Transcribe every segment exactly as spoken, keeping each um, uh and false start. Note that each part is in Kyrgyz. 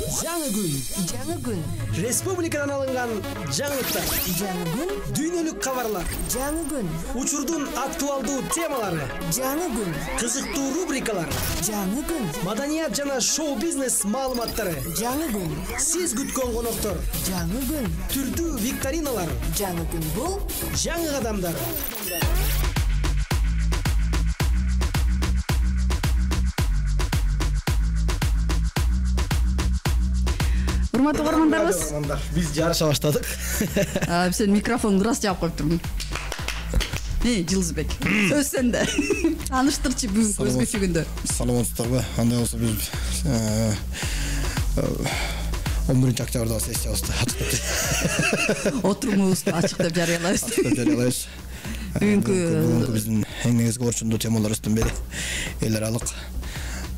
Жаңы күн. Жаңы күн. Республикадан алынган жаңылыктар. Жаңы күн. Дүйнөлүк кабарлар. Жаңы күн. Учурдун актуалдуу темалары. Жаңы күн. Кызыктуу рубрикалар. Жаңы күн. Маданият жана шоу-бизнес маалыматтары. Жаңы күн. Сиз күткөн коноктор. Жаңы күн. Түрдүү викториналар. Жаңы күн бул Жаңы кадамдар. Урматтуу көрөрмандарыбыз, биз жарыша баштадык. Сен микрофонду ырас жаап коюп турмун. Эй, Жылызбек, сөз сенде. Тааныштырчы бүгүнкү өзгөчө күндө. Саламатсыздарбы? Андай болсо биз он биринчи октябрда сессиябызды ачык Отурумубузду ачык деп жарыялайбыз. ачык деп жарыялайбыз. Бүгүнкү биздин эң негизги орчундуу темаларыбыздын бири эл аралык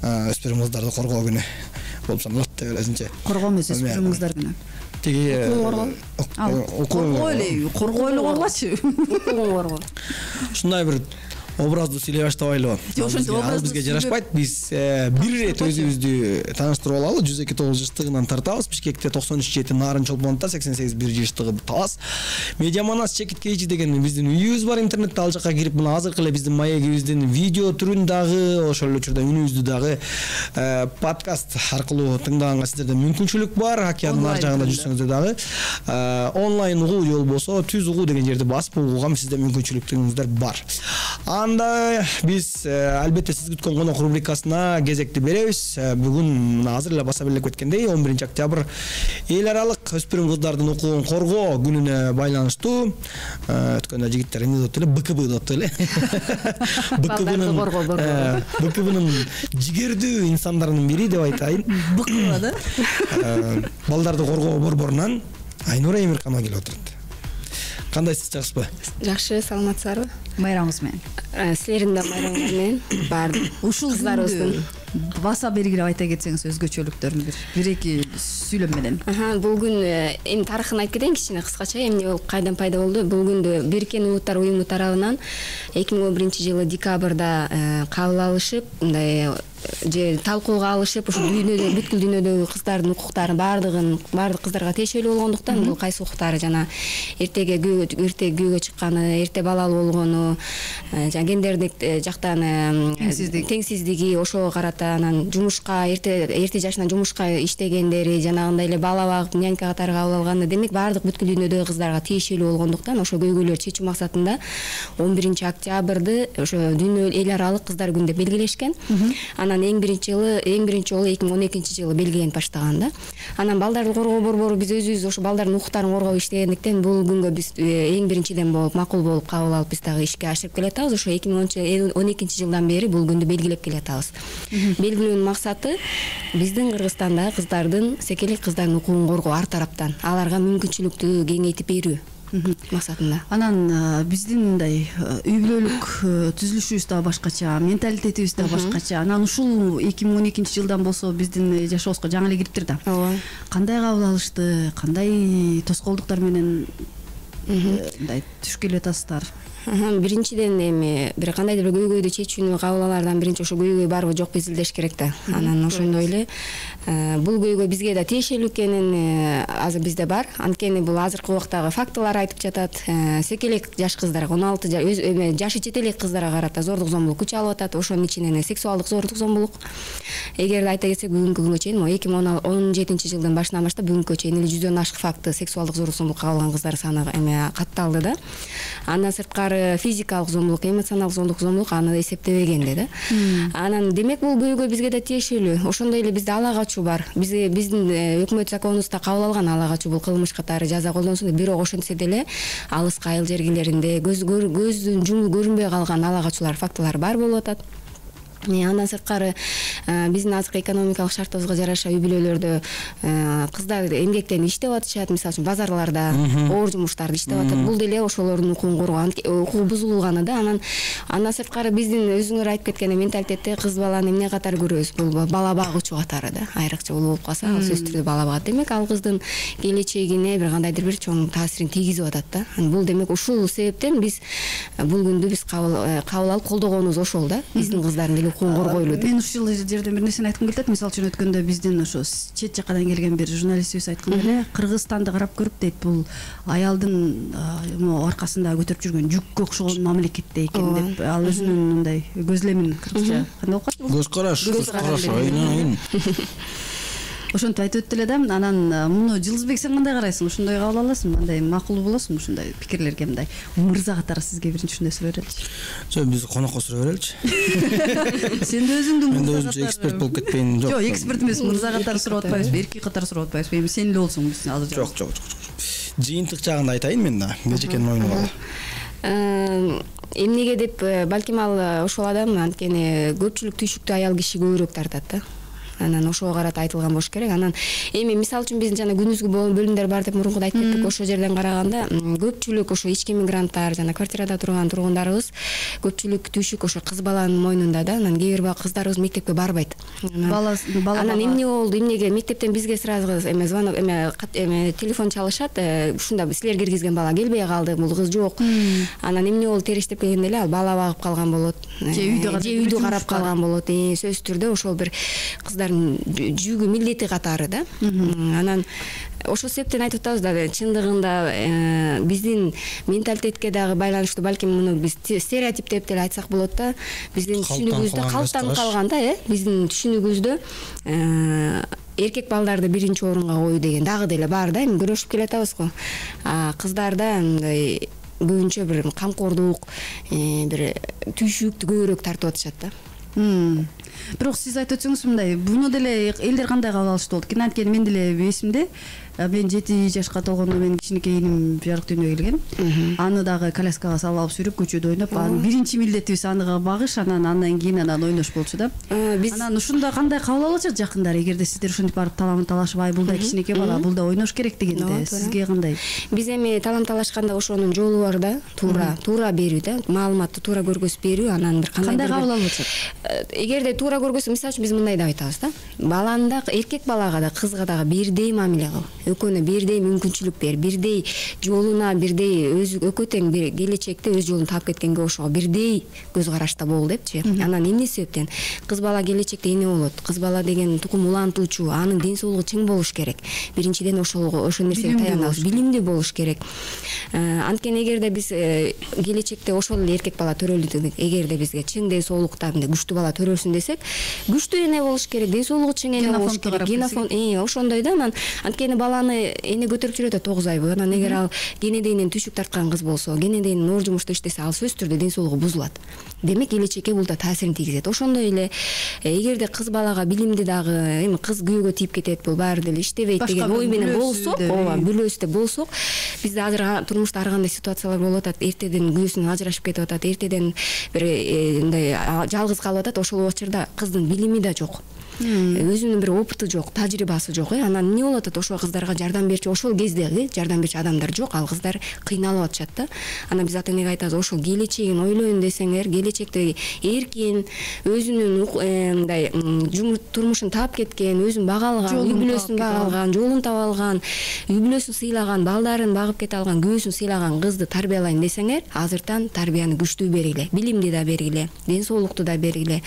өспүрүм кыздарды коргоо күнү болуп саналат деп элесинче. Коргоо эмес, өспүрүм кыздар күнү. Тиги коргоо эле, коргоо эле коргочу. коргоо. Ушундай бир образдуу сүйлөй баштабайлыбы? Ошентип образдуу бизге жарашпайт. Биз бир ирет өзүбүздү тааныштырып алалы. жүз эки тогуз жаштыгынан тартабыз. Бишкекте токсон үч жети, Нарын Чолпондо сексен сегиз бир жаштыгы талас. Медиаманас Чекит Кейчи деген биздин үйүбүз бар интернетте. Ал жака кирип мына азыркы эле биздин маегибиздин видео түрүн дагы, ошол эле учурда үнүбүздү дагы подкаст аркылуу тыңдаганга сиздерде мүмкүнчүлүк бар. Океандын ар жагында жүрсөңүздөр дагы онлайн угуу же болбосо түз угуу деген жерди басып угууга сизде мүмкүнчүлүктөрүңүздөр бар. Анда биз албетте сиз күткөн конок рубрикасына кезекти беребиз. Бүгүн азыр эле баса белек кеткендей он биринчи октябрь эл аралык өспүрүм кыздардын укугун коргоо күнүнө байланыштуу. Өткөндө жигиттер эмне деп эле БКБ деп эле. БКБнын БКБнын жигердүү инсандарынын бири деп айтайын. БКБ да? Балдарды коргоо борборунан Айнура Эмирканова келип отурат. Кандайсыз, жакшысызбы? Жакшы, саламатсыздарбы? Майрамыңыз менен. Силердин да майрамыңар менен баардык Ушул кыздарыбыздын баса белгилеп айта кетсеңиз өзгөчөлүктөрүн бир бир эки сүйлөм менен. Бул күн эми тарыхын айтып кетейин кичине кыскача, эмне болуп кайдан пайда болду. Бул күндү Бириккен Улуттар уюму тарабынан эки миң он биринчи жылы декабрда кабыл алышып, мындай же талкууга алышып, ушу дүйнөдө бүткүл дүйнөдөгү кыздардын укуктарын баардыгын баардык кыздарга тиешелүү болгондуктан бул кайсы укуктары жана эртеге эрте күйөөгө чыкканы, эрте балалуу болгону, жана гендердик жактан теңсиздиги ошого карата анан жумушка эрте эрте жашынан жумушка иштегендери, жанагындай эле бала багып нянька катары кабыл алганы, демек баардык бүткүл дүйнөдөгү кыздарга тиешелүү болгондуктан ошо көйгөйлөрдү чечүү максатында он биринчи октябрды ошо дүйнө эл аралык кыздар күнү деп белгилешкен. Анан эң биринчи жылы эң биринчи жолу эки миң он экинчи жылы белгиленип баштаган да. Анан балдарды коргоо борбору биз өзүбүз ошо балдардын укуктарын коргоп иштегендиктен бул күнгө биз эң биринчиден болуп макул болуп кабыл алып биз дагы ишке ашырып келатабыз. Ошо эки миң он экинчи жылдан бери бул күндү белгилеп келатабыз. Белгилөөнүн максаты биздин Кыргызстандагы кыздардын, секелек кыздардын укугун коргоо ар тараптан, аларга мүмкүнчүлүктү кеңейтип берүү максатында. Анан биздин мындай үй бүлөлүк түзүлүшүбүз да башкача, менталитетибиз да башкача. Анан ушул эки миң он экинчи жылдан болсо биздин жашообузга жаңы эле кириптир да. Ооба. Кандай кабыл алышты, кандай тоскоолдуктар менен мындай түшүп келатасыздар? Биринчиден эми бир кандайдыр бир көйгөйдү чечүүнү кабыл алаардан биринчи ошо көйгөй барбы жокпу изилдеш керек да. Анан ошондой эле бул көйгөй бизге да тиешелүү экенин азыр бизде бар. Анткени бул азыркы убактагы фактылар айтып жатат. Секелек жаш кыздарга, он алты жашы жете элек кыздарга карата зордук зомбулук күч алып атат. Ошонун ичинен сексуалдык зордук зомбулук. Эгерде айта кетсек, бүгүнкү күнгө чейин эки миң он жетинчи жылдын башынан баштап бүгүнкү чейин эле жүздөн ашык факты сексуалдык зордук зомбулукка кабылган кыздар саны эме катталды да. Андан сырткары физикалык зомбулук, эмоционалдык зомбулук зомбулук аны эсептебегенде да. Анан демек бул көйгөй бизге да тиешелүү. Ошондой эле бизде ала качуу бар. Бизде биздин өкмөт законубузда кабыл алган ала качуу бул кылмыш катары жаза колдонсун деп, бирок ошентсе деле алыска айыл жергилеринде көздүн жуму көрүнбөй калган ала качуулар фактылар бар болуп атат. Андан сырткары биздин азыркы экономикалык шартыбызга жараша үй бүлөлөрдө кыздар эмгектенип иштеп атышат, мисалы үчүн базарларда, оор жумуштарды иштеп атат. Бул деле ошолордун укугун коргоо, укугу бузулганы да. Анан андан сырткары биздин өзүңөр айтып кеткен менталитетте кыз баланы эмне катары көрөбүз? Бул бала багуучу катары да. Айрыкча улуу болуп калса, ал сөзсүз түрдө бала багат. Демек ал кыздын келечегине бир кандайдыр бир чоң таасирин тийгизип атат да. Бул демек ушул себептен биз бул күндү биз кабыл алып колдогонубуз ошол да. Биздин кыздардын укугун коргойлу деп. Мен ушул жерден бир нерсени айткым келет. Мисалы үчүн өткөндө биздин ошо чет жакадан келген бир журналистибиз айткан эле, Кыргызстанды карап көрүп дейт, бул аялдын аркасында көтөрүп жүргөн жүккө окшогон мамлекетте экен деп. Ал өзүнүн мындай көзлемин кыргызча кандай болуп калат? Көз караш, көз караш, айнын. Ошентип айтып өттү эле да. Анан муну Жылдызбек сен кандай карайсың? Ушундай кабыл аласың? Мындай макул болосуңбу ушундай пикирлерге? Мындай мырза катары сизге биринчи ушундай суроо береличи. Жок, биз конокко суроо береличи. Сен да өзүңдү Мен да өзүмчө эксперт болуп кетпейин. Жок, жок, эксперт эмес, мырза катары суроо атпайбызбы? Эркек катары суроо атпайбызбы? Эми сен эле болсоң биз азыр. Жок, жок, жок. Жыйынтык жагында айтайын мен да. Бежекенин оюну бар. Эмнеге деп, балким ал ошол адам анткени көпчүлүк түйшүктүү аял киши көбүрөөк тартат да. Анан ошого карата айтылган болуш керек. Анан эми мисалы үчүн биздин жана күнүзгү бөлүмдөр бар деп мурункуда айтып кеттик. Ошол жерден караганда көпчүлүк ошо ички мигранттар жана квартирада турган тургундарыбыз көпчүлүк түйшүк ошо кыз баланын мойнунда да. Анан кээ бир кыздарыбыз мектепке барбайт. Анан эмне болду? Эмнеге мектептен бизге сразу эме звонок эме эме телефон чалышат. Ушунда силер киргизген бала келбей калды, бул кыз жок. Анан эмне болду? Териштеп келгенде эле ал бала багып калган болот. Же үйдө карап калган болот. Сөзсүз түрдө ошол бир кыздар жүгү милдети катары да. Анан ошол себептен айтып атабыз да, чындыгында биздин менталитетке дагы байланыштуу, балким муну биз стереотип деп деле айтсак болот да. Биздин түшүнүгүбүздө калыптанып калган да, э биздин түшүнүгүбүздө эркек балдарды биринчи орунга коюу деген дагы деле бар да. Эми күрөшүп келатабыз го. А кыздарда мындай көбүнчө бир камкордук, бир түйшүктү көбүрөөк тартып атышат да. Бирок сиз айтып өтсөңүз мындай, буну деле элдер кандай кабыл алышты болду? Анткени мен деле эсимде, мен жети жашка толгондо менин кичинекей иним жарык дүйнөгө келген. Аны дагы коляскага салып алып жүрүп көчөдө ойноп, анын биринчи милдетибиз аны багыш, анан андан кийин анан ойнош болчу да. Анан ушунда кандай кабыл алышат жакындар? Эгерде сиздер ошентип барып талам талашып, ай бул да кичинекей бала, бул да ойнош керек дегенде, сизге кандай? Биз эми талам талашканда ошонун жолу бар да, туура, туура берүү да, маалыматты туура көргөзүп берүү, анан бир кандай кабыл алып атышат? Эгерде туура көргөзсө, мисалы үчүн биз мындай деп айтабыз да. Баланы да, эркек балага да, кызга дагы бирдей мамиле кыл. Экөөнө бирдей мүмкүнчүлүк бер, бирдей жолуна, бирдей өз экөө тең бир келечекте өз жолун таап кеткенге ошого бирдей көз карашта бол депчи. Анан эмне себептен? Кыз бала келечекте эмне болот? Кыз бала деген тукум улантуучу, анын ден соолугу чың болуш керек. Биринчиден ошол ошол нерсеге таянабыз, билимдүү болуш керек. Анткени эгерде биз келечекте ошол эле эркек бала төрөлдү, эгерде бизге чың ден соолукта күчтүү бала төрөлсүн десек, күчтүү эне болуш керек, ден соолугу чың эне болуш керек. Генофон ошондой да. Анан анткени баланы эне көтөрүп жүрөт да тогуз айбы. Анан эгер ал кенедейинен түйшүк тарткан кыз болсо, кенедейинен оор жумушта иштесе, ал сөзсүз түрдө ден соолугу бузулат. Демек келечекке бул да таасирин тийгизет. Ошондой эле эгерде кыз балага билимди дагы, эми кыз күйөөгө тийип кетет, бул баары деле иштебейт деген ой менен болсок, ооба, бүлөсү деп болсок, бизде азыр турмушта ар кандай ситуациялар болуп атат. Эртеден күйөөсүнөн ажырашып кетип атат, эртеден бир мындай жалгыз калып атат. Ошол учурда кыздын билими да жок. Өзүнүн бир опыты жок, тажрыйбасы жок. Анан эмне болуп атат? Ошол кыздарга жардам берчү, ошол кезде жардам берчү адамдар жок. Ал кыздар кыйналып атышат да. Анан биз ата энеге айтабыз, ошол келечегин ойлойм десеңер, келечекте эркин, өзүнүн мындай турмушун таап кеткен, өзүн бага алган, үй бүлөсүн бага алган, жолун таба алган, үй бүлөсүн сыйлаган, балдарын багып кете алган, күйөөсүн сыйлаган кызды тарбиялайм десеңер, азыртан тарбияны күчтүү бергиле, билимди да бергиле, ден соолукту да бергиле,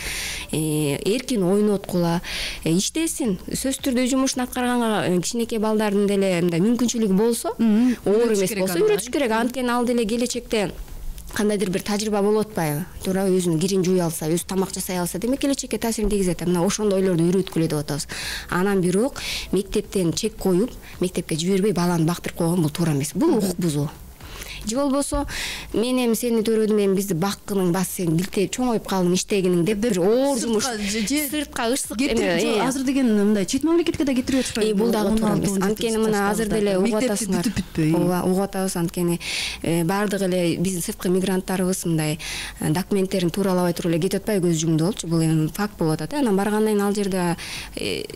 эркин ойноткула, иштесин. Сөзсүз түрдө жумушун аткарганга кичинекей балдардын деле мындай мүмкүнчүлүгү болсо, оор эмес болсо үйрөтүш керек. Анткени ал деле келечекте кандайдыр бир тажрыйба болуп атпайбы? Туура өзүнүн кирин жууй алса, өзү тамак жасай алса, демек келечекке таасирин тийгизет. Мына ошондой ойлорду үйрөткүлө деп атабыз. Анан бирок мектептен чек коюп, мектепке жибербей баланы бактырып койгон бул туура эмес. Бул укук бузуу. Же болбосо мен эми сени төрөдүм, эми бизди баккының бас сен билтеп чоңоюп калдың иштегиниң деп бир оор жумуш сыртка ышык эме азыр деген мындай чет мамлекетке да кетирип атышпайбы? Бул дагы туура эмес. Анткени мына азыр деле угуп атасыңар. Ооба, угуп атабыз. Анткени баардык эле биздин сырткы мигранттарыбыз мындай документтерин тууралабай туруп эле кетип атпайбы, көз жумду болчу. Бул эми факт болуп атат. Анан баргандан кийин ал жерде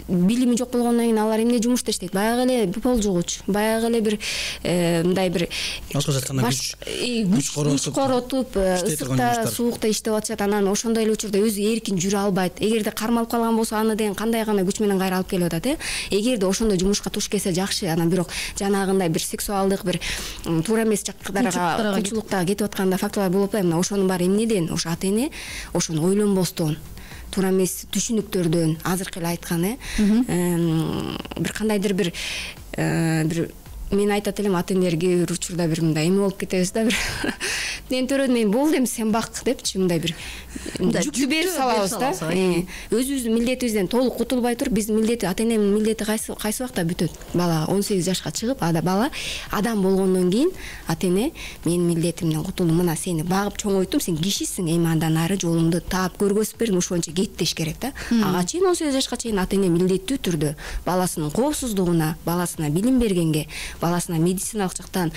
билими жок болгондон кийин алар эмне жумушта иштейт? Баягы эле пол жугуч, баягы эле бир мындай бир күч коротуп, ысыкта, суукта иштеп атышат. Анан ошондой эле учурда өзү эркин жүрө албайт. Эгерде кармалып калган болсо, аны деген кандай гана күч менен кайра алып келип атат, э? Эгерде ошондой жумушка туш келсе жакшы. Анан бирок жанагындай бир сексуалдык, бир туура эмес жактарга кулчулукта кетип атканда фактылар болуп атпайбы? Мына ошонун баары эмнеден? Ошо ата эне ошону ойлонбостон, туура эмес түшүнүктөрдөн азыркы эле айткан э бир кандайдыр бир бир мен айтат элем ата энелер кээ бир учурда бир мындай эме болуп кетебиз да, бир мен төрөдөн мен болду эми сен бак депчи, мындай бир жүктү берип салабыз да. Өзүбүздүн милдетибизден толук кутулбай туруп, биздин милдети, ата эненин милдети кайсы кайсы убакта бүтөт? Бала он сегиз жашка чыгып, ада бала адам болгондон кийин ата эне менин милдетимден кутулдум, мына сени багып чоңойттум, сен кишисиң, эми андан ары жолуңду таап көргөзүп бердим, ошончо кет деш керек да. Ага чейин он сегиз жашка чейин ата эне милдеттүү түрдө баласынын коопсуздугуна, баласына билим бергенге, баласына медициналык жактан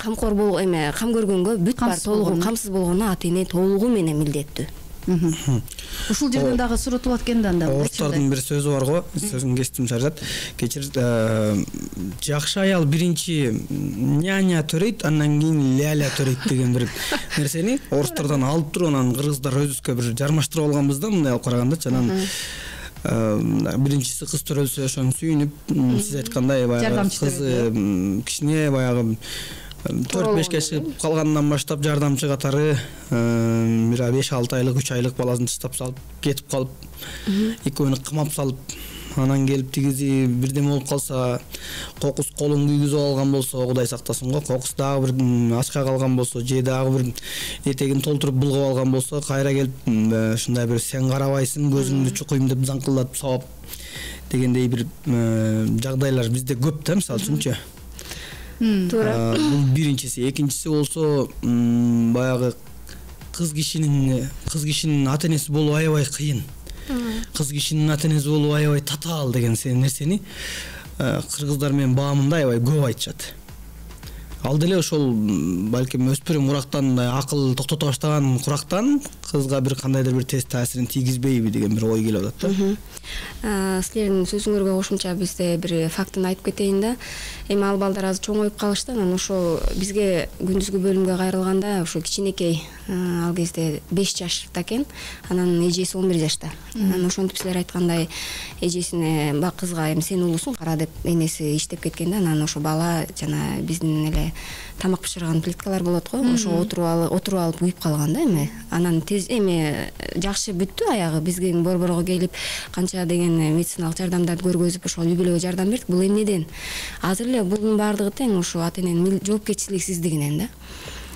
камкор бол эме кам көргөнгө бүт бар толугу камсыз болгону ата эне толугу менен милдеттүү. Ушул жерден дагы суротулат экен да анда. Орустардын бир сөзү бар го, сөзүн кестим Шаржат. Кечир, жакшы аял биринчи няня төрөйт, андан кийин ляля төрөйт деген бир нерсени орустардан алып туруп, анан кыргыздар өзүбүзгө бир жармаштырып алганбыз да, мындай алып карагандачы. Анан биринчиси кыз төрөлсө ошону сүйүнүп, сиз айткандай баягы кыз кичине баягы төрт бешке чыгып калгандан баштап жардамчы катары бир беш алты айлык, үч айлык баласын таштап салып кетип калып, экөөнү кымап салып, анан келип тигизи бирдеме болуп калса, кокус колун күйгүзүп алган болсо, Кудай сактасын го, кокус дагы бир ачка калган болсо, же дагы бир этегин толтуруп булгап алган болсо, кайра келип ушундай бир сен карабайсың, көзүңдү чукуйм деп заңкылдатып сабап дегендей бир жагдайлар бизде көп да, мисалы үчүнчү. Туура. Бул биринчиси. Экинчиси болсо, баягы кыз кишинин кыз кишинин ата энеси болуу аябай кыйын. Кыз кишинин ата энеси болуу аябай татаал деген нерсени кыргыздар менен баамында аябай көп айтышат. Ал деле ошол балким өспүрүм курактан акыл токтото баштаган курактан кызга бир кандайдыр бир тез таасирин тийгизбейби деген бир ой келип атат да. Силердин сөзүңөргө кошумча бизде бир фактын айтып кетейин да. Эми ал балдар азыр чоңоюп калышты, анан ошо бизге күндүзгү бөлүмгө кайрылганда ошо кичинекей ал кезде беш жашта экен, анан эжеси он бир жашта. Анан ошентип силер айткандай эжесине бак кызга эми сен улусуң кара деп энеси иштеп кеткен да, анан ошо бала жана биздин эле тамак бышырган плиткалар болот го, ошо отуруп алып отуруп алып күйүп калган да эми. Анан тез эми жакшы бүттү аягы, бизге борборго келип канча деген медициналык жардамдарды көргөзүп ошол үй бүлөгө жардам бердик. Бул эмнеден? Азыр эле bunun баардыгы тең ошо ата эненин жоопкерчиликсиздигинен да.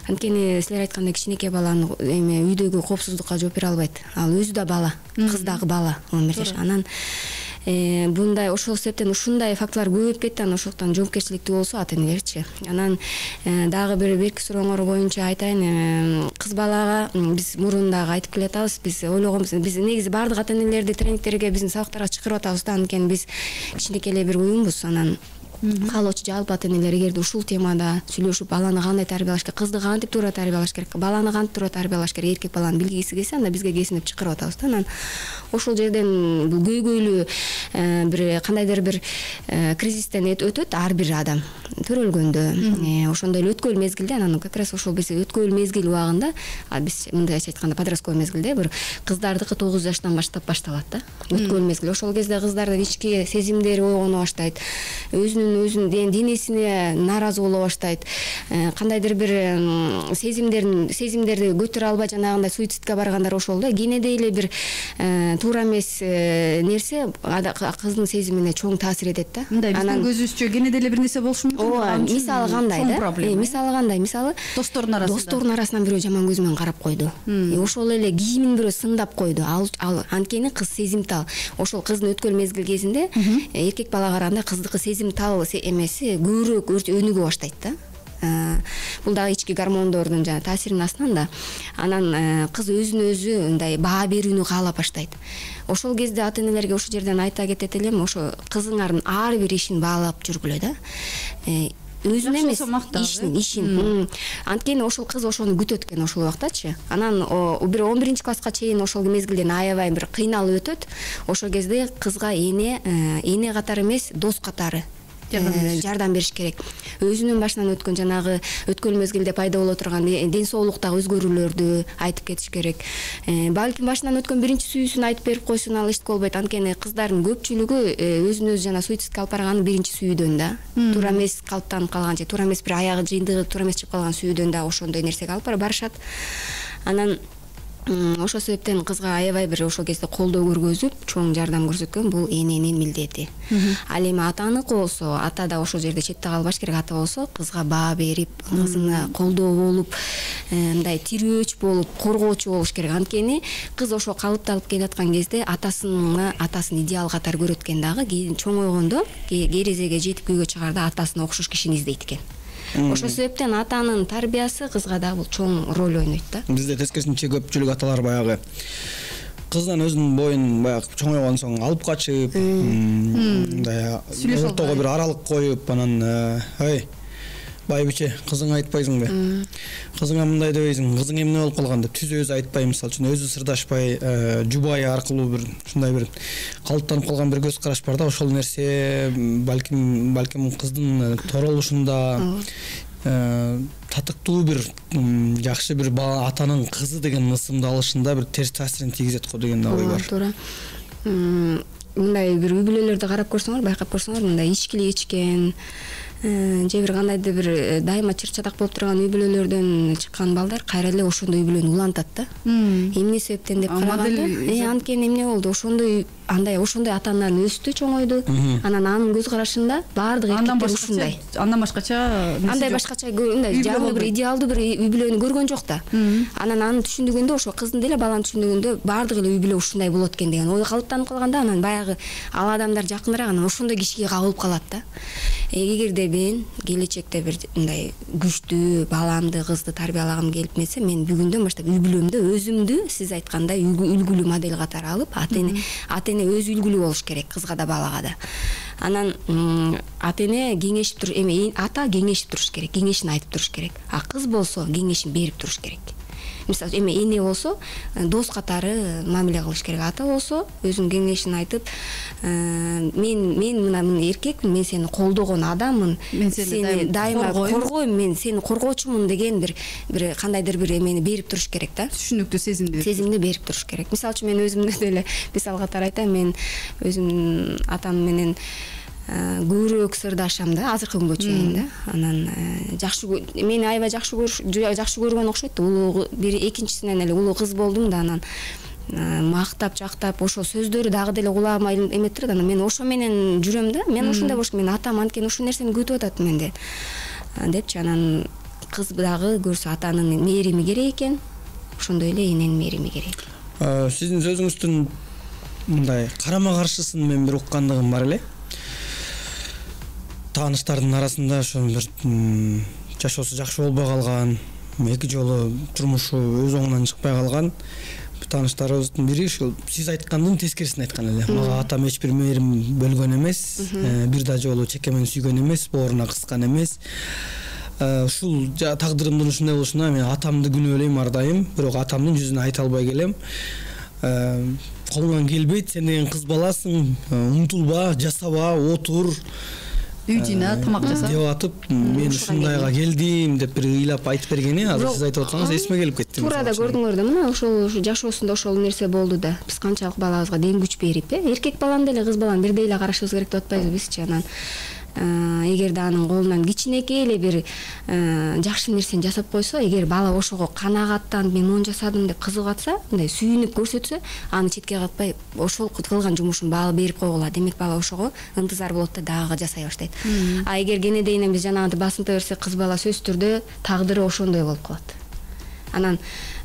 Анткени силер айткандай кичинекей баланы эми үйдөгү коопсуздукка жооп бере албайт. Ал өзү да бала, кыз дагы бала, он бир жаш. Анан bunday ошол себептен ушундай фактылар көбөйүп кетти, анан ошондуктан жоопкерчиликтүү болсо ата энелерчи. Анан дагы бир берки сурооңор боюнча айтайын, кыз балага биз мурун дагы айтып келатабыз, биз ойлогонбуз, биз негизи баардык ата энелерди тренингтерге, биздин сабактарга чакырып атабыз да, анткени биз кичинекей эле бир уюмбуз. Анан каалоочу жалпы ата энелер эгерде ушул темада сүйлөшүп, баланы кандай тарбиялаш керек, кызды кантип туура тарбиялаш керек, баланы кантип туура тарбиялаш керек, эркек баланы билгиси келсе, анда бизге келсин деп чакырып атабыз да. Анан ошол жерден бул көйгөйлүү бир кандайдыр бир кризистен өтөт ар бир адам төрөлгөндө, ошондой эле өткөл мезгилде. Анан как раз ошол биз өткөл мезгил убагында, биз мындайча айтканда подростковый мезгилде бир кыздардыкы тогуз жаштан баштап башталат да, өткөл мезгил. Ошол кезде кыздардын ички сезимдери ойгоно баштайт, өзүнүн өзүнүн денесине нааразы боло баштайт, кандайдыр бир сезимдерин сезимдерди көтөрө албай жанагындай суицидке баргандар ошол да. Кенеде эле бир туура эмес нерсе кыздын сезимине чоң таасир этет да. Мындай биздин көзүбүзчө кенеде эле бир нерсе болушу мүмкүн. Ооба, мисалы кандай да? Мисалы кандай? Мисалы достордун арасында. Достордун арасынан бирөө жаман көз менен карап койду. Ошол эле кийимин бирөө сындап койду. Ал анткени кыз сезимтал. Ошол кыздын өткөл мезгил кезинде эркек бала караганда кыздыкы сезимтал эмеси көбүрөөк өнүгө баштайт да. Бул дагы ички гормондордун жана таасиринин астынан да. Анан кыз өзүн өзү мындай баа берүүнү каалап баштайт. Ошол кезде ата энелерге ошол жерден айта кетет элем, ошо кызыңардын ар бир ишин баалап жүргүлө да. Өзүн эмес, ишин, ишин. Анткени ошол кыз ошону күтөт экен ошол убактачы. Анан бир он биринчи класска чейин ошол мезгилден аябай бир кыйналып өтөт. Ошол кезде кызга эне, эне катары эмес, дос катары жардам бериш керек. Өзүнүн башынан өткөн жанагы өткөл мезгилде пайда боло турган ден соолуктагы өзгөрүүлөрдү айтып кетиш керек. Балким башынан өткөн биринчи сүйүүсүн айтып берип койсун, ал эчтеке болбойт. Анткени кыздардын көпчүлүгү өзүн өзү жана суицидке алып барган биринчи сүйүүдөн да. Туура эмес калыптанып калган же туура эмес бир аягы жыйындыгы туура эмес чыгып калган сүйүүдөн да ошондой нерсеге алып барышат. Анан ошол себептен кызга аябай бир ошол кезде колдоо көргөзүп чоң жардам көрсөткөн бул эненин милдети. Ал эми атаныкы болсо, ата да ошол жерде четте калбаш керек. Ата болсо кызга баа берип, кызына колдоо болуп, мындай тирөөч болуп, коргоочу болуш керек. Анткени кыз ошо калыпталып келаткан кезде атасына атасын идеал катары көрөт экен дагы. Кийин чоңойгондо, керезеге жетип күйгө чыгарда атасына окшош кишини издейт экен. Ошол себептен атанын тарбиясы кызга да бул чоң роль ойнойт да. Бизде тескерисинче көпчүлүк аталар баягы кызынан өзүнүн боюн баягы чоңойгон соң алып качып, мындай ортого бир аралык коюп, анан ой байбиче, кызыңа айтпайсыңбы? Кызыңа мындай дебейсиң, кызың эмне болуп калган деп түз өзү айтпай, мисалы үчүн өзү сырдашпай, жубайы аркылуу бир ушундай бир калыптанып калган бир көз караш бар да. Ошол нерсе балким балким кыздын торолушунда татыктуу бир жакшы бир бала атанын кызы деген ысымды алышында бир терс таасирин тийгизет го деген да ой бар. Туура. Мындай бир үй бүлөлөрдү карап көрсөңөр, байкап көрсөңөр, мындай ичкилик ичкен же бир кандайдыр бир дайыма чыр-чатак болуп турган үй бүлөлөрдөн чыккан балдар кайра эле ошондой үй бүлөнү улантат да. Эмне себептен деп караганда, э анткени эмне болду? Ошондой андай ошондой ата-аналар өстү, чоңойду. Анан анын көз карашында баардык эркектер ушундай. Андан башкача Андай башкача мындай жаңы бир идеалдуу бир үй бүлөнү көргөн жок да. Анан анын түшүндүгүндө ошо кыздын деле баланын түшүндүгүндө баардык эле үй бүлө ушундай болот экен деген ой калыптанып калганда, анан баягы ал адамдар жакыныраак анан ошондой кишиге кабылып калат да. Эгерде мен келечекте бир мындай күчтүү баламды, кызды тарбиялагым келип месе, мен бүгүндөн баштап үй бүлөмдө өзүмдү сиз айткандай үлгүлүү модель катары алып, ата-эне ата-эне өзү үлгүлүү болуш керек кызга да балага да. Анан ата-эне кеңешип туруш, эми ата кеңешип туруш керек, кеңешин айтып туруш керек. А кыз болсо кеңешин берип туруш керек. Мисалы, эми эне болсо дос катары мамиле кылыш керек. Ата болсо өзүнүн кеңешин айтып, мен мен мына эркекмин, мен сени колдогон адаммын, мен сени дайыма коргойм, мен сени коргоочумун деген бир бир кандайдыр бир эмени берип туруш керек да. Түшүнүктүү сезимди сезимди берип туруш керек. Мисалы үчүн мен өзүмдү деле мисал катары айтайын, мен өзүмдүн атам менен көбүрөөк сырдашам да, азыркы күнгө чейин да. Анан жакшы мени аябай жакшы көрүш жакшы көргөн окшойт да. Улуу бир экинчисинен эле улуу кыз болдум да, анан мактап жактап ошол сөздөрү дагы деле кулагыма эметип турат. Анан мен ошо менен жүрөм да. Мен ушундай болуш, мен атам анткени ушул нерсени күтүп атат менде депчи. Анан кыз дагы көрсө атанын мээрими керек экен, ошондой эле эненин мээрими керек. Сиздин сөзүңүздүн мындай карама каршысын мен бир уккандыгым бар эле. Тааныштардын арасында ошо бир жашоосу жакшы болбой калган, эки жолу турмушу өз оңунан чыкпай калган тааныштарыбыздын бири ушул сиз айткандын тескерисин айткан эле. Мага атам эч бир мээрим бөлгөн эмес, бир да жолу чекемен сүйгөн эмес, бооруна кыскан эмес. Ушул тагдырымдын ушундай болушуна мен атамды күнөөлөйм ар дайым, бирок атамдын жүзүнө айта албай келем. Колуңан келбейт, сен деген кыз баласың, умтулба, жасаба, отур, үй жыйна, тамак жаса деп атып, мен ушундайга келдим деп бир ыйлап айтып бергени, азыр сиз айтып атсаңыз эсиме келип кетти. Туура да көрдүңөр да, мына ошол жашоосунда ошол нерсе болду да. Биз канчалык балабызга дем күч берип, э, эркек баланы деле кыз баланы бирдей эле карашыбыз керек деп атпайбызбы бизчи. Анан эгерде анын колунан кичинекей эле бир жакшы нерсени жасап койсо, эгер бала ошого канагаттанып мен мону жасадым деп кызыгып атса, мындай сүйүнүп көрсөтсө, аны четке катпай ошол кылган жумушун баалы берип койгула. Демек бала ошого ынтызар болот да дагы жасай баштайт. А эгер кенедейинен биз жанагынтип басынта берсек, кыз бала сөзсүз түрдө тагдыры ошондой болуп калат. Анан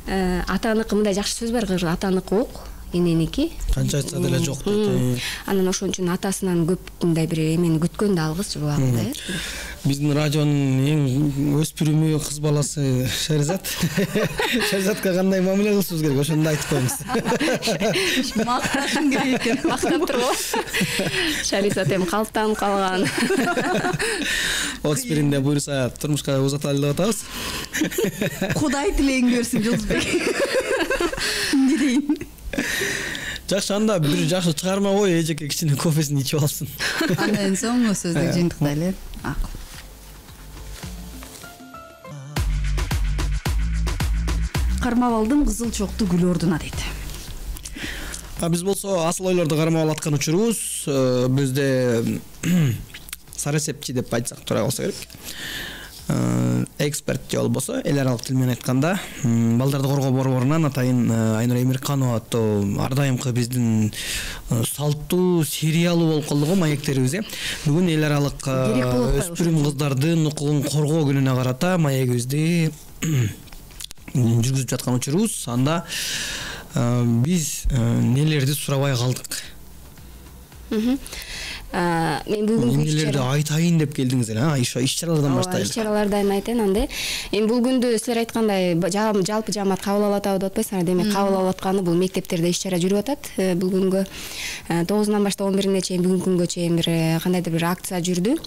атаныкы мындай жакшы сөз бар, атаныкы ок, эненики канча айтса деле жок дейт. Анан ошон үчүн атасынан көп мындай бир эмени күткөн да алгыс убагында, э. Биздин радионун эң өспүрүмү кыз баласы Шеризат. Шеризатка кандай мамиле кылышыбыз керек, ошону айтып коюңуз. Макташым керек экен. Мактап турбу? Шеризат эми калыптанып калган. отуз биринде буюрса турмушка узаталы деп атабыз. Кудай тилегин көрсүн, Жолдузбек. Эмне дейин? Жакшы, анда бир жакшы чыгарма кой, эжеке кичине кофесин ичип алсын. Андан соң сөздүк жыйынтыктайлы. Акыл. Кармап алдым кызыл чокту гүл ордуна дейт. Биз болсо асыл ойлорду кармап аткан учурубуз, бизде сарасепчи деп айтсак туура болсо керек. эксперт же болбосо эл аралык тил менен айтканда балдарды коргоо борборунан атайын Айнура Эмирканова аттуу ар дайымкы биздин салттуу сериялуу болуп калды го маектерибиз. э Бүгүн эл аралык өспүрүм кыздардын укугун коргоо күнүнө карата маегибизди жүргүзүп жаткан учурубуз. Анда биз нелерди сурабай калдык? Мен бүгүнкү эмнелерди айтайын деп келдиңиз эле? А, иш-чаралардан баштайлы. Иш-чаралардан айтайын анда. Эми бул күндө силер айткандай жалпы жаамат кабыл алып атабы деп атпайсыңар. Демек кабыл алып атканы бул мектептерде иш-чара жүрүп атат. Бул күнгө тогузунан баштап он бирине чейин бүгүнкү күнгө чейин бир кандайдыр бир акция жүрдү.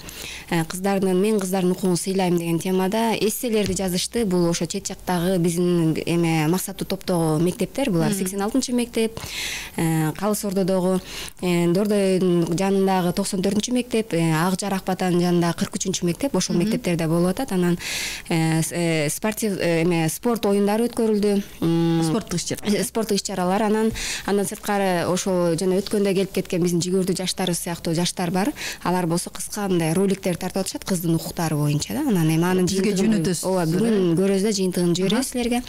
Кыздардын мен кыздардын укугун сыйлайм деген темада эсселерди жазышты. Бул ошо чет жактагы биздин эме максаттуу топтогу мектептер. Булар сексен алтынчы мектеп, Калыс Ордодогу, Дордойдун жанындагы токсон төртүнчү мектеп, Ак Жарак Батанын жанындагы кырк үчүнчү мектеп, ошол мектептерде болуп атат. Анан спортив эме спорт оюндары өткөрүлдү. Спорттук иш-чара. Спорттук иш-чаралар. Анан андан сырткары ошо жана өткөндө келип кеткен биздин жигөрдүү жаштарыбыз сыяктуу жаштар бар. Алар болсо кыска мындай роликтер тартып атышат кыздын укуктары боюнча да. Анан эми анын бизге жөнөтөсүз. Ооба, бүгүн көрөбүз да, жыйынтыгын жиберебиз силерге.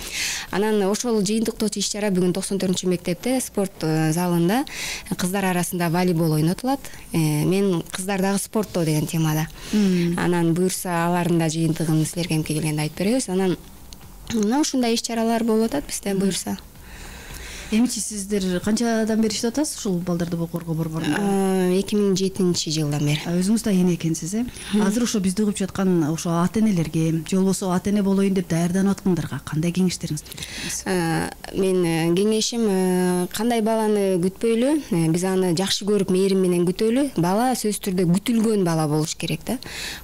Анан ошол жыйынтыктоочу иш-чара бүгүн токсон төртүнчү мектепте спорт залында кыздар арасында волейбол ойнотулат. Мен кыздардагы спорттоо деген темада. Анан буюрса алардын да жыйынтыгын силерге эмке келгенде айтып беребиз. Анан мына ушундай иш-чаралар болуп атат бизде буюрса. Эмичи сиздер канчадан бери иштеп атасыз ушул балдарды коргоо борборунда? эки миң жетинчи жылдан бери. Өзүңүз да эне экенсиз, э? Азыр ошо бизди угуп жаткан ошо ата-энелерге, же болбосо ата-эне болоюн деп даярданып аткандарга кандай кеңештериңизди бересиз? Мен кеңешим кандай баланы күтпөйлү, биз аны жакшы көрүп мээрим менен күтөлү. Бала сөзсүз түрдө күтүлгөн бала болуш керек да.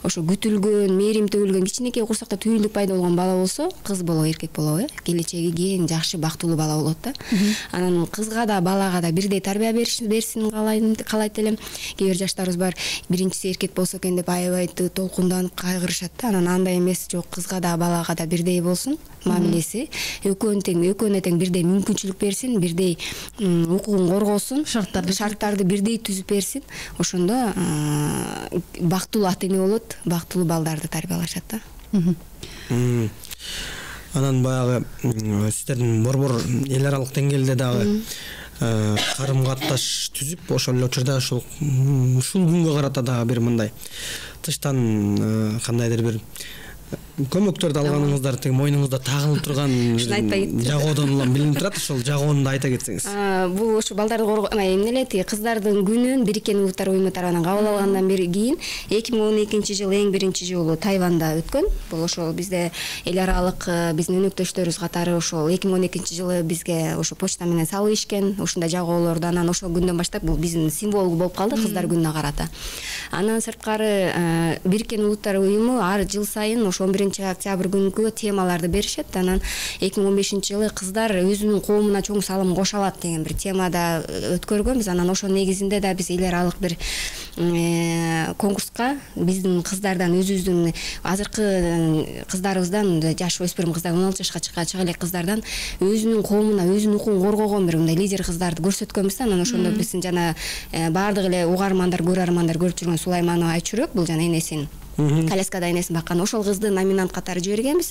Ошо күтүлгөн, мээрим төгүлгөн, кичинекей курсакта түйүндүк пайда болгон бала болсо, кыз болобу, эркек болобу, э? Келечеги кең, жакшы, бактылуу бала болот да. Анан кызга да балага да бирдей тарбия берсин каалайт элем. Кээ бир жаштарыбыз бар, биринчиси эркек болсо экен деп аябай толкунданып кайгырышат да. Анан андай эмес, жок, кызга да балага да бирдей болсун мамилеси. Экөөнү тең, экөөнүнө тең бирдей мүмкүнчүлүк берсин, бирдей укугун коргосун, шарттарды шарттарды бирдей түзүп берсин. Ошондо бактылуу ата-эне болот, бактылуу балдарды тарбиялашат да. Анан баягы сиздердин борбор эл аралык деңгээлде дагы карым катташ түзүп, ошол эле учурда ушул ушул күнгө карата дагы бир мындай тыштан кандайдыр бир көмөктөрдү алганыңыздар, тең мойнуңузда тагылып турган жагоодон улам билинип турат. Ошол жагоону да айта кетсеңиз. Бул ошо балдарды коргоо эмне эле тиги кыздардын күнүн Бириккен Улуттар уюму тарабынан кабыл алгандан бери кийин эки миң он экинчи жыл эң биринчи жолу Тайванда өткөн. Бул ошол бизде эл аралык биздин өнөктөштөрүбүз катары ошол эки миң он экинчи жылы бизге ошо почта менен салып ийишкен ушундай жагоолорду. Анан ошол күндөн баштап бул биздин символ болуп калды кыздар күнүнө карата. Андан сырткары Бириккен Улуттар уюму ар жыл сайын ошо он биринчи октябрь күнгө темаларды беришет. Анан эки миң он бешинчи жылы кыздар өзүнүн коомуна чоң салым кошо алат деген бир темада өткөргөнбүз. Анан ошол негизинде да биз эл аралык бир конкурска биздин кыздардан, өзүбүздүн азыркы кыздарыбыздан, жаш өспүрүм кыздар, он алты жашка чыга элек кыздардан өзүнүн коомуна, өзүнүн укугун коргогон бир мындай лидер кыздарды көрсөткөнбүз. Анан ошондо биздин жана баардык эле угармандар, көрөрмандар көрүп жүргөн Сулайманова Айчүрөк, бул жана энесин коляскада энесин баккан, ошол кызды номинант катары жибергенбиз.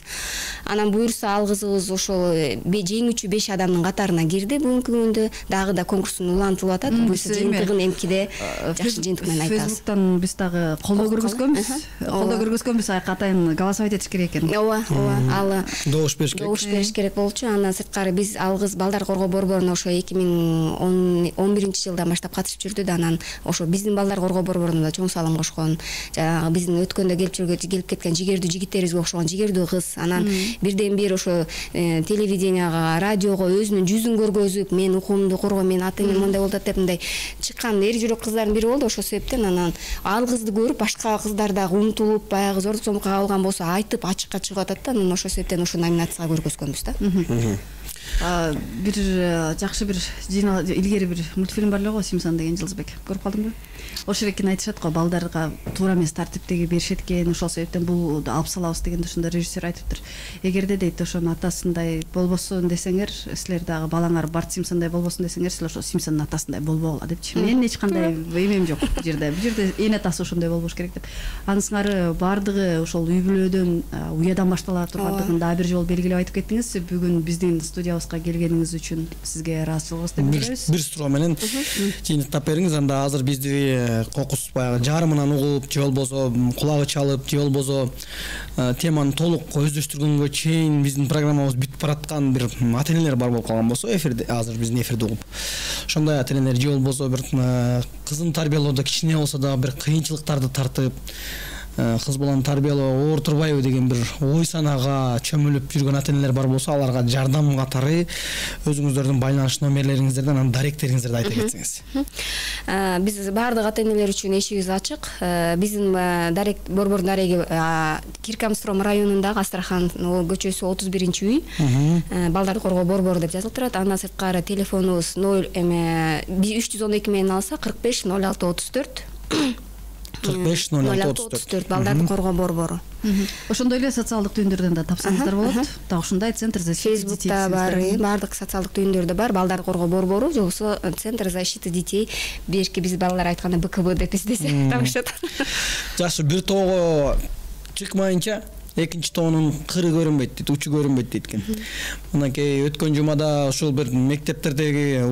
Анан буюрса ал кызыбыз ошол жеңүүчү беш адамдын катарына кирди. Бүгүнкү күндө дагы да конкурстун улантылып атат. Буюрса жыйынтыгын эмкиде жакшы жыйынтык менен айтабыз. Фейсбуктан биз дагы колдоо көргөзгөнбүз. Колдоо көргөзгөнбүз, атайын голосовать этиш керек экен. Ооба, ооба. Ал добуш бериш керек. Добуш бериш керек болчу. Андан сырткары биз ал кыз балдар коргоо борборуна ошо эки миң он биринчи жылдан баштап катышып жүрдү да. Анан ошо биздин балдар коргоо борборуна да чоң салым кошкон. Жанагы биздин өткөндө келип жүргөн келип кеткен жигердүү жигиттерибизге окшогон жигердүү кыз. Анан бирден бир ошо телевиденияга, радиого өзүнүн жүзүн көргөзүп, мен укугумду коргойм, мен ата-энем мындай болуп атат деп мындай чыккан эр жүрөк кыздардын бири болду. Ошол себептен анан ал кызды көрүп башка кыздар дагы умтулуп, баягы зордук зомбукка кабылган болсо айтып ачыкка чыгып атат да. Анан ошол себептен ошо номинацияга көргөзгөнбүз да. бир жакшы бир илгери бир мультфильм бар эле го, Симпсон деген, Жылдызбек көрүп калдыңбы? Ошол экен айтышат го, балдарга туура эмес тартиптеги беришет экен, ошол себептен бул алып салабыз дегенде ошондо режиссер айтыптыр. Эгерде дейт ошонун атасындай болбосун десеңер, силер дагы балаңар Барт Симпсондой болбосун десеңер, силер ошо Симпсондун атасындай болбогула депчи. Менин эч кандай эмем жок бул жерде. Бул жерде эне атасы ошондой болбош керек деп. Анын сыңары баардыгы ошол үй бүлөдөн, уядан баштала тургандыгын дагы бир жолу белгилеп айтып кеттиңиз. Бүгүн биздин студиябызга келгениңиз үчүн сизге ыраазычылыгыбызды билдиребиз. Бир суроо менен жыйынтыктап бериңиз, анда азыр бизди кокус баягы жарымынан угуп, же болбосо кулагы чалып, же болбосо теманы толук өздөштүргөнгө чейин биздин программабыз бүтүп бараткан бир ата-энелер бар болуп калган болсо, эфирде азыр биздин эфирди угуп, ошондой ата-энелер же болбосо бир кызын тарбиялоодо кичине болсо да бир кыйынчылыктарды тартып, кыз баланы тарбиялоо оор турбайбы деген бир ой санаага чөмүлүп жүргөн ата-энелер бар болсо, аларга жардам катары өзүңүздөрдүн байланыш номерлериңиздерди, анан даректериңиздерди айта кетсеңиз. Биз баардык ата-энелер үчүн эшигибиз ачык. Биздин дарек борбордун дареги Киркамстром районундагы Астрахан көчөсү отуз биринчи үй, балдарды коргоо борбору деп жазылып турат. Андан сырткары телефонубуз ноль эме үч жүз он эки менен алса кырк беш ноль алты отуз төрт кырк беш ноль алты отуз төрт балдарды коргоо борбору. Ошондой эле социалдык түйүндөрдөн да тапсаңыздар болот. Так ушундай центр защиты детей. Фейсбукта бар, баардык социалдык түйүндөрдө бар, балдарды коргоо борбору, же болбосо центр защиты детей. Берки биз балалар айтканда бэ ка бэ деп издесе табышат. Жакшы, бир тоого чыкмайынча экинчи тоонун кыры көрүнбөйт дейт, учу көрүнбөйт дейт экен. Мынакей өткөн жумада ушул бир мектептердеги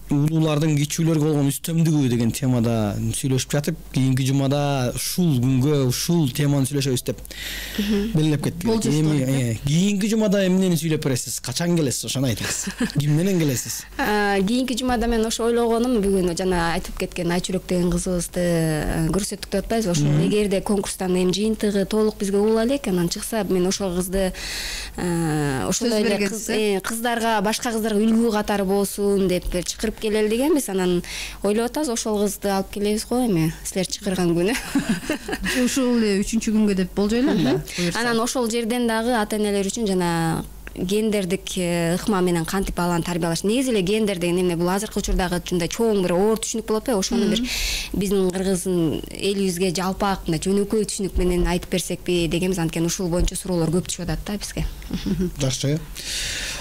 улуулардын кичүүлөргө болгон үстөмдүгү деген темада сүйлөшүп жатып, кийинки жумада ушул күнгө ушул теманы сүйлөшөбүз деп белгилеп кеттик. Эми кийинки жумада эмнени сүйлөп бересиз? Качан келесиз? Ошону айтыңыз. Ким менен келесиз? Кийинки жумада мен ошо ойлогонум, бүгүн жана айтып кеткен Айчүрөк деген кызыбызды көрсөттүк деп атпайбызбы? Ошол эгерде конкурстан эми жыйынтыгы толук бизге угула элек, анан чыкса, мен ошол кызды ошондой эле кыздарга, башка кыздарга үлгү катары болсун деп чакырып келели дегенбиз. Анан ойлоп атабыз, ошол кызды алып келебиз го эми силер чакырган күнү. Ушул эле үчүнчү күнгө деп болжойлу анда. Анан ошол жерден дагы ата-энелер үчүн жана гендердик ыкма менен кантип баланы тарбиялаш. Негизи эле гендер деген эме бул азыркы учурдагы ушундай чоң бир оор түшүнүк болуп атпайбы? Ошону бир биздин кыргыздын элибизге жалпак мындай жөнөкөй түшүнүк менен айтып берсекпи дегенбиз. Анткени ушул боюнча суроолор көп түшүп атат да бизге. Жакшы.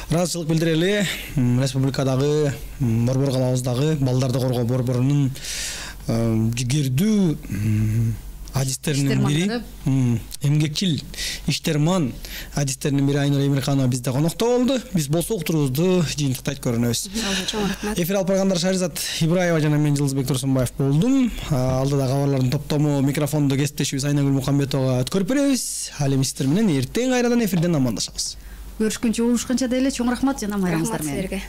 Ыраазычылык билдирели. Республикадагы борбор калабыздагы балдарды коргоо борборунун жигердүү адистеринин бири, эмгекчил иштерман адистеринин бири Айнура Эмирханова бизде конокто болду. Биз болсо уктуруубузду жыйынтыктайт көрүнөбүз. Эфир алып баргандар Шаризат Ибраева жана мен Жылдызбек Турсунбаев болдум. Алдыда кабарлардын топтому микрофондо кесиптешибиз Айнагүл Мукамбетовага өткөрүп беребиз. Ал эми сиздер менен эртең кайрадан эфирден амандашабыз. Көрүшкөнчө, угушканча деле чоң рахмат жана майрамыңыздар менен.